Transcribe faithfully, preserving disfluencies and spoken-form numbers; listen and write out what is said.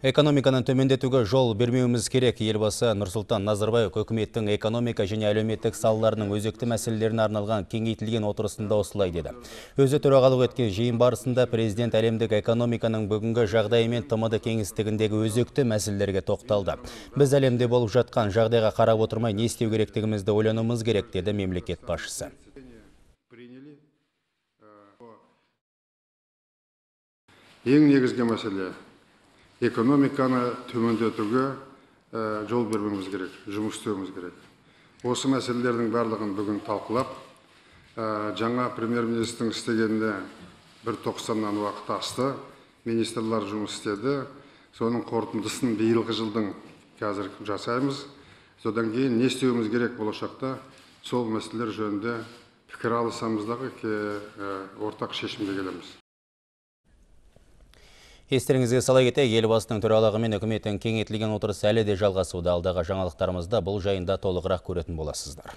Экономиканы төмендетүүгө жол бермеуіміз керек. Елбасы Нурсултан Назарбаев өкмөттүн экономика және әлеуметтик салаларынын өзекті мәселелерине арналган кеңейтилген отурусунда осулай деди. Өзү төрагалык эткен жыйын барысында президент әлемдик экономиканын бүгүнкү жагдайы мен тмд кеңестигиндеги өзекті мәселелерге токтолду. Биз әлемде болуп жаткан жагдайга карап отурмай не истеу керектигибизди ойлонуумуз керек, деди мемлекет башчысы. Эң негизги маселе экономиканы төмөндетүүгө жол бермеуіміз керек, жұмыс істеуіміз керек. Осы мәселелердің барлығын бүгін талқылап, жаңа премьер-министрдің істегеніне бір тоқсаннан уақыт асты, министрлар жұмыс істеді. Соның қорытындысын биылғы жылдың қазір жасаймыз. Содан кейін не істеуіміз керек болашақта, сол мәселелер жөнінде пікір алысамыздағы ортақ шешімге келеміз. Естеріңізге сала кетейік, елбасының төрағалығы мен үкіметтің кеңейтілген отырысы әлі де жалғасуда. Алдағы жаңалықтарымызда бұл жайында толығырақ көретін боласыздар.